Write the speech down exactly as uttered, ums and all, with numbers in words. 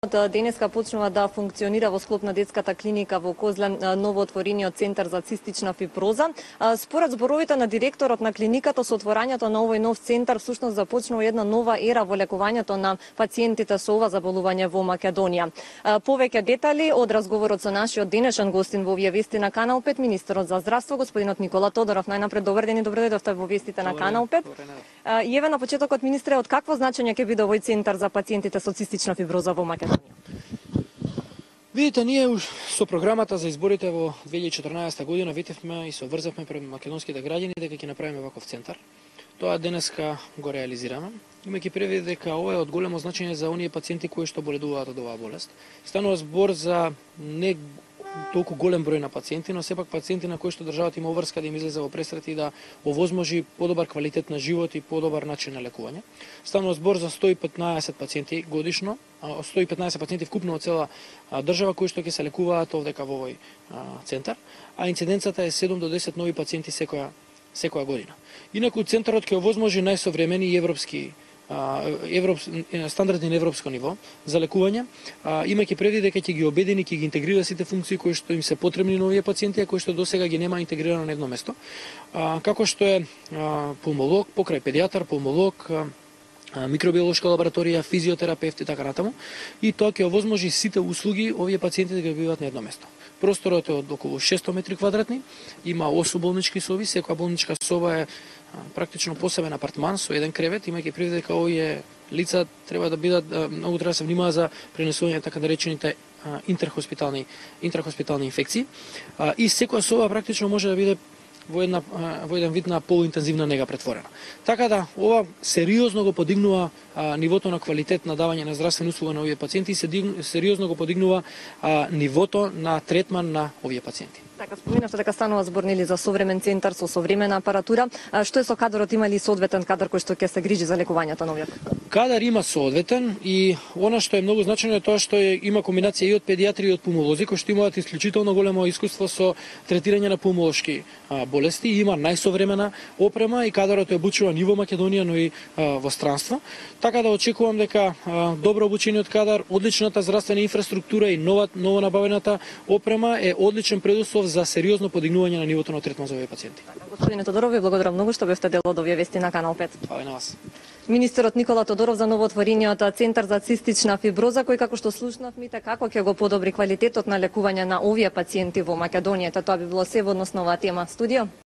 Денеска почнува да функционира во склоп на детската клиника во Козле новоотворениот центар за цистична фиброза. Според зборовите на директорот на клиниката, со отворањето на овој нов центар всушност започнува една нова ера во лекувањето на пациентите со ова заболување во Македонија. Повеќе детали од разговорот со нашиот денешен гостин во овие вести на Канал пет, министерот за здравство господинот Никола Тодоров. Најнапред добар ден и добро дојдовте во вестите на Канал пет. И еве на почетокот, министре, од какво значење ќе биде овој центар за пациентите со цистична фиброза во Македонија? Видите, ние со програмата за изборите во две илјади и четрнаесетта година ветевме и се обврзавме пред македонските граѓани дека ќе направиме ваков центар. Тоа денеска го реализираме, имајќи предвид дека ова е од големо значење за оние пациенти кои што боледуваат од оваа болест. Станува збор за не толку голем број на пациенти, но сепак пациенти на кои што државата има обврска да им излезе во пресрет и да овозможи подобар квалитет на живот и подобар начин на лекување. Станува збор за сто и петнаесет пациенти годишно, сто и петнаесет пациенти вкупно од цела држава кои што ќе се лекуваат овдека во овој центар, а инциденцата е седум до десет нови пациенти секоја секоја година. Инаку центарот ќе овозможи најсовремени европски Европ, стандардни на европско ниво за лекување, имајќи предвид дека ќе ги обедини, ќе ги интегрира сите функции кои што им се потребни на овие пациенти, а кои што досега ги нема интегрирано на едно место, како што е пулмолог, покрај педијатар, пулмолог, микробиолошка лабораторија, физиотерапевт и така натаму, и тоа ќе овозможи сите услуги овие пациенти да ги добиваат на едно место. Просторот е од околу шестстотини метри квадратни, има осум болнички соби, секоја болничка соба е практично посебен апартман со еден кревет, имајќи предвид дека овие лица треба да бидат многу треба да се внимава за пренесување така наречените интерхоспитални интерхоспитални инфекции, и секоја соба практично може да биде во една во еден вид на полуинтензивна нега претворена. Така да ова сериозно го подигнува а, нивото на квалитет на давање на здравствена услуга на овие пациенти и сериозно го подигнува а, нивото на третман на овие пациенти. Така, споминавте дека станува збор нели за современ центар со современа апаратура. А што е со кадрот, има ли соодветен кадар кој што ќе се грижи за лекувањето на овие? Кадар има соодветен и она што е многу значајно е тоа што е, има комбинација и од педијатри и од пулмолози кои што имаат исклучително големо искуство со третирање на пулмолошки а, болести, и има најсовремена опрема и кадарот е обучуван и во Македонија, но и а, во странство. Така да очекувам дека а, добро обучениот кадар, одличната здравствена инфраструктура и нова ново набавената опрема е одличен предуслов за сериозно подигнување на нивото на третман за овие пациенти. Господине Тодоров, ви благодарам многу што бевте дел од овие вести на Канал пет. Фала и на вас. Министерот Никола Тодоров за новоотворениот центар за цистична фиброза, кој, како што слушнавме, како ќе го подобри квалитетот на лекување на овие пациенти во Македонија. Тоа би било се во однос на оваа тема. Студио.